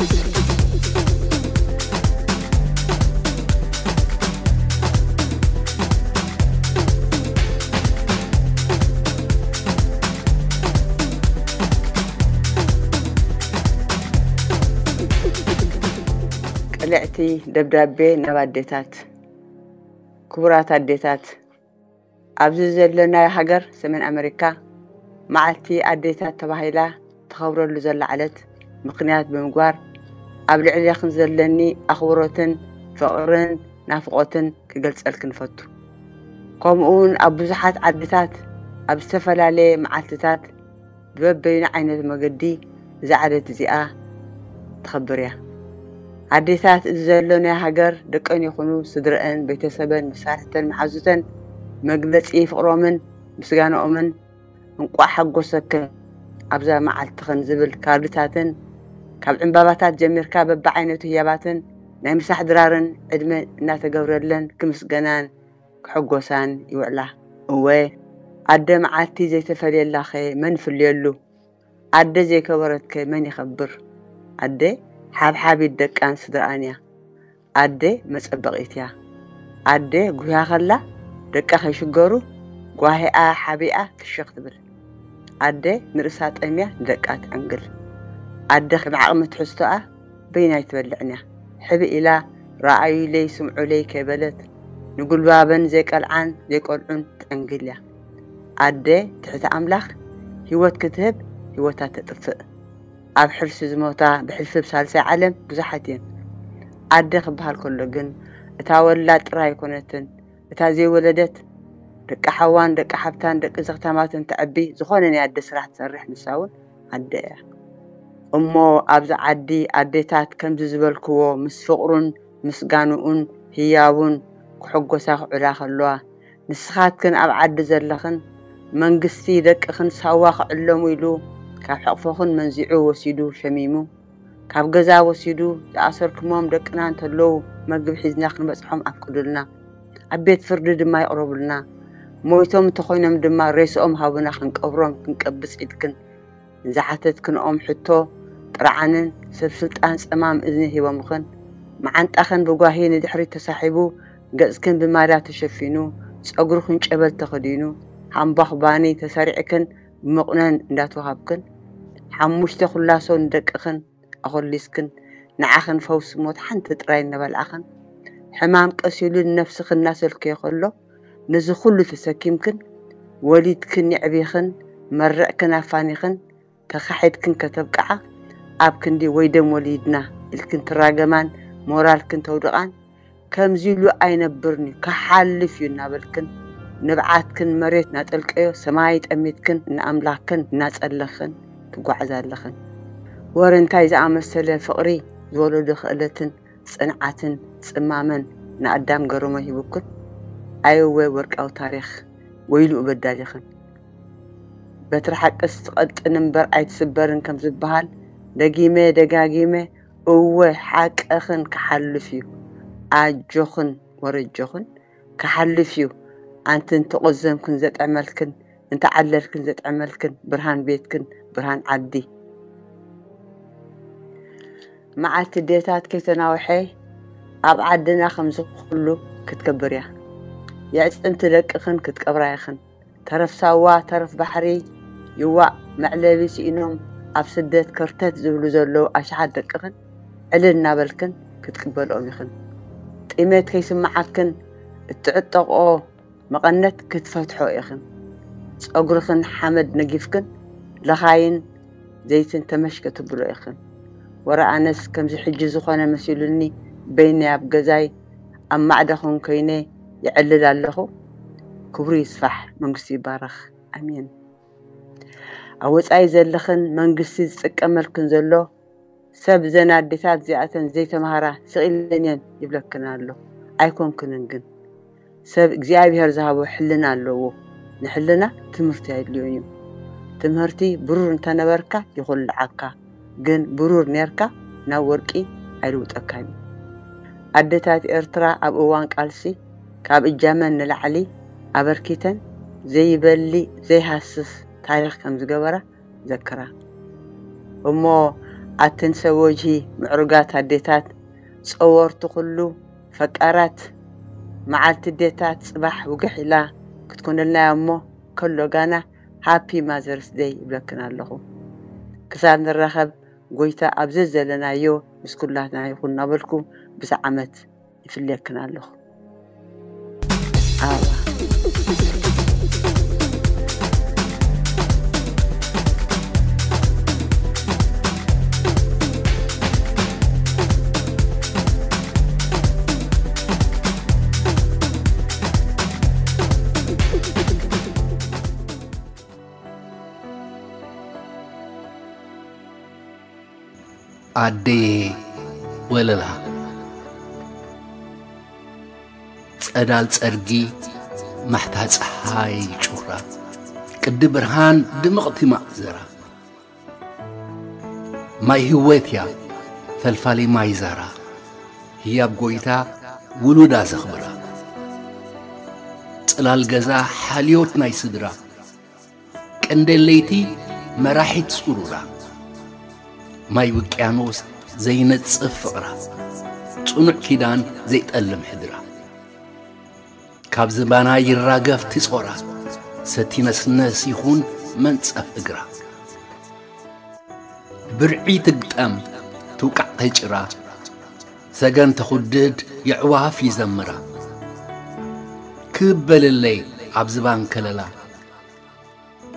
ቅልዕቲ ደብዳቤ ናብ ኣዴታት። ክቡራት ኣዴታት፣ ኣብዚ ዘለናዮ ሃገር ሰሜን ኣመሪካ፣ መዓልቲ ኣዴታት ተባሂላ ተኸብረሉ ዘላ ዕለት ምኽንያት ብምግባር፣ ኣብ ልዕሌኽን ዘለኒ ኣኽብሮትን ፍቕርን ናፍቖትን ክገልጸልክን እፈቱ። ከምኡውን ኣብ ብዙሓት ዓድታት ኣብ ዝተፈላለየ መዓልትታት ብበበይኑ ዓይነት መገዲ እዛ ዕለት እዚኣ ትኸብር እያ። ኣዴታት እዚ ዘሎ ናይ ሃገር ደቀን ይኹኑ ስድረአን፣ ቤተሰበን፣ መሳርሕተን፣ መሓዙተን መግለጺ ፍቕሮምን ምስጋናኦምን እንቋዕ ሓጎሰክን ኣብዛ መዓልትኽን ዝብል ካርድታትን ካብ ዕምባባታት ጀሚርካ በብዓይነቱ ህያባትን ናይ ምሳሕ ድራርን ዕድመ እናተገብረለን ክምስገናን ክሕጎሳን ይውዕላ። እወ ኣደ መዓልቲ ዘይተፈልየላኸ መን ይፍልየሉ? ኣደ ዘይከበረትከ መን ይኸብር? ኣደ ሓብሓቢት ደቃን ስድራኣን እያ። ኣደ መጸበቒት እያ። ኣደ ጉህያ ከላ ደቃ ከይሽገሩ ጓሂኣ ሓቢኣ ክሸኽ ትብል። ኣደ ንርእሳ ጠምያ ንደቃ ትዕንግል። ኣደ ከም ዓቕሚ ትሕዝቶኣ በይናይ ትበልዕን እያ። ሕብእ ኢላ ረኣዩለይ ስምዑለይ ከይበለት ንጉልባበን ዘይቀልዓን ዘይቀልዑን ትዕንግል እያ። ኣደ ትሕቲ ኣምላኽ ህይወት ክትህብ ህይወታ ተጥፍእ። ኣብ ሕርሲ ዝሞታ ብሕልፊ ብሳልሳይ ዓለም ብዙሓት እየን። ኣደ ክበሃል ከሎ ግን እታ ወላድ ጥራይ ኣይኮነትን፣ እታ ዘይወለደት ደቂ ሓዋን ደቂ ሓብታን ደቂ ዘኽታማትን ተዕቢ ዝኾነ ናይ ኣደ ስራሕ ትሰርሕ ንሳ እውን ኣደ እያ። እሞ ኣብዚ ዓዲ ኣዴታት ከምዚ ዝበልክዎ ምስ ፍቕሩን ምስጋንኡን ህያቡን ክሕጎሳ ክዕላ ከለዋ ንስኻትክን ኣብ ዓዲ ዘለኽን መንግስቲ ደቅኽን ሳዋ ክዕለሙ ኢሉ ካብ ሕቕፎኽን መንዚዑ ወሲዱ ሸሚሙ ካብ ገዛ ወሲዱ ዝኣሰርክሞም ደቅና እንተለዉ መግቢ ሒዝና ክንበጽሖም ኣፍቅዱልና። ኣብ ቤት ፍርዲ ድማ ይቕረቡልና። ሞይቶም እንተኾይኖም ድማ ሬስኦም ሃቡና ክንቀብሮም ክንቀብጽ ኢልክን ንዝሓተትክንኦም ሕቶ ጥርዓንን ሰብ ስልጣን ጸማም እዝኒ ሂቦምኽን መዓንጣኽን ብጓሂ ንድሕሪት ተሳሒቡ ገጽክን ብማዳ ተሸፊኑ ጸጉርኽን ጨበል ተኸዲኑ ሃምባኽ ባኒ ተሰሪዕክን ብመቑነን እንዳተዋሃብክን ሓሙሽተ ኩላሶ ንደቅኽን ኣኾሊስክን ንዓኽን ፈውሲ ሞት ሓንቲ ጥራይ እናበልዓኽን ሕማም ቀሲሉ ንነፍስኽን እናሰልከዮ ከሎ ነዚ ኩሉ ተሰኪምክን ወሊድክን የዕቢኽን መርዕክን ኣፋኒኽን ተኻሒድክን ከተብቅዓ ኣብ ክንዲ ወይ ደም ወሊድና ኢልክን ትራገማን ሞራልክን ተውድቓን ከምዚ ኢሉ ኣይነብርን እዩ ክሓልፍ እዩ እናበልክን ንብዓትክን መሬት እናጠልቀዮ ሰማይ ጠሚትክን ንኣምላኽክን እናጸለኽን ትጓዓዛ ኣለኽን። ወረ እንታይ ዝኣመሰለ ፍቕሪ ዝወለዶ ክእለትን ጽንዓትን ጽማመን ንኣዳም ገረሞ ሂቡክን። ኣይወ ወርቃዊ ታሪኽ ወይልኡ በዳሊኽን። በትሪ ሓቅስ ትቐጥን እምበር ኣይትስበርን ከም ዝበሃል ደጊመ ደጋጊመ እወ ሓቅኽን ክሓልፍ እዩ ኣጆኽን ወረጆኽን ክሓልፍ እዩ ኣንቲ እንተቖዘምክን ዘጥዕመልክን እንተዓለልክን ዘጥዕመልክን ብርሃን ቤትክን ብርሃን ዓዲ መዓልቲ ዴታት ከይተናውሐ ኣብ ዓድና ከምዚ ኩሉ ክትከብር እያ የዕፅምቲ ደቅኽን ክትቀብራ ኢኽን ተረፍ ሳዋ ተረፍ ባሕሪ ይዋእ መዕለቢ ስኢኖም ኣብ ስደት ከርተት ዝብሉ ዘለዉ ኣሽሓት ደቅኽን ዕልል እናበልክን ክትቅበልኦም ኢኽን። ጥሜት ከይስምዓክን እትዕጠቕኦ መቐነት ክትፈትሖ ኢኽን። ጸጉርኽን ሓመድ ነጊፍክን ለኻይን ዘይትን ተመሽ ከተብሎ ኢኽን። ወረ ኣነስ ከምዚ ሕጂ ዝኾነ መሲሉኒ በይነይ ኣብ ገዛይ ኣብ ማዕደኹን ኮይነ ይዕልል ኣለኹ። ክብሩ ይስፋሕ፣ መንግስቱ ይባረኽ። ኣሜን። ኣብ ወጻኢ ዘለኽን መንግስቲ ዝጥቀመልክን ዘሎ ሰብ እዘን ኣዴታት እዚኣተን ዘይተምሃራ ስቕ ኢለን እየን ይብለክን ኣሎ። ኣይኮንክንን ግን ሰብ እግዚኣብሔር ዝሃቦ ሕልና ኣለዎ። ንሕልና ትምህርቲ ኣየድልዮን እዩ። ትምህርቲ ብሩር እንተነበርካ ይኹልዓካ፣ ግን ብሩር ኔርካ ናብ ወርቂ ኣይልውጠካን እዩ። ኣዴታት ኤርትራ ኣብ እዋን ቃልሲ ካብ እጃመን ንላዕሊ ኣበርኪተን ዘይበሊ ዘይሃስስ ታሪኽ ከም ዝገበራ ዘክራ። እሞ ኣትን ሰብ ወጅሂ ምዕሩጋት ኣዴታት፣ ጸወርቲ ኩሉ ፈቃራት፣ መዓልቲ ኣዴታት ጽባሕ ውግሕ ኢላ ክትኮነልና እያ እሞ፣ ከሎ ጋና ሃፒ ማዘርስ ደይ ይብለክን ኣለኹ። ክሳብ ንራኸብ፣ ጎይታ ኣብ ዘዘለናዮ ምስ ኩላትና ይኹን እናበልኩ፣ ብዛ ዓመት ይፍልየክን ኣለኹ። ኣበባ። ኣደየ ወለላ፣ ጸዳል ጸርጊ፣ ማሕታ ጸሓይ ጩራ፣ ቅዲ ብርሃን ድምቕቲ ማእዘራ፣ ማይ ህይወት እያ ፈልፋሊ ማይ ዛራ፣ ህያብ ጎይታ ውሉዳ ዘኽብራ፣ ጽላል ገዛ ሓልዮት ናይ ስድራ፣ ቀንዴል ለይቲ መራሒት ጽሩራ፣ ማይ ውቅያኖስ ዘይነጽፍ ፍቕራ፣ ጽኑዕ ኪዳን ዘይጠልም ሕድራ፣ ካብ ዝባና ይራገፍ ትጾራ፣ ሰቲ ነስነስ ይኹን መንጸፍ እግራ፣ ብርዒ ትግጠም ትውቃዕ ከይጭራ፣ ሰገን ተኹድድ የዕዋፍ ይዘምራ፣ ክበልለይ ኣብ ዝባን ከለላ፣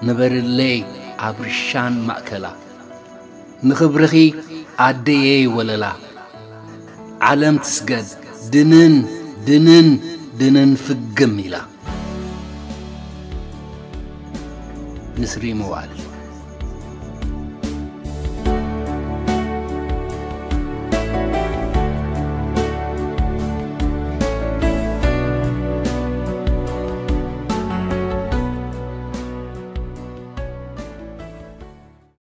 ንበርለይ ኣብ ርሻን ማእከላ፣ ንኽብርኺ ኣደየይ ወለላ፣ ዓለም ትስገድ ድንን ድንን ድንን ፍግም ኢላ። ንስሪ መዋእል።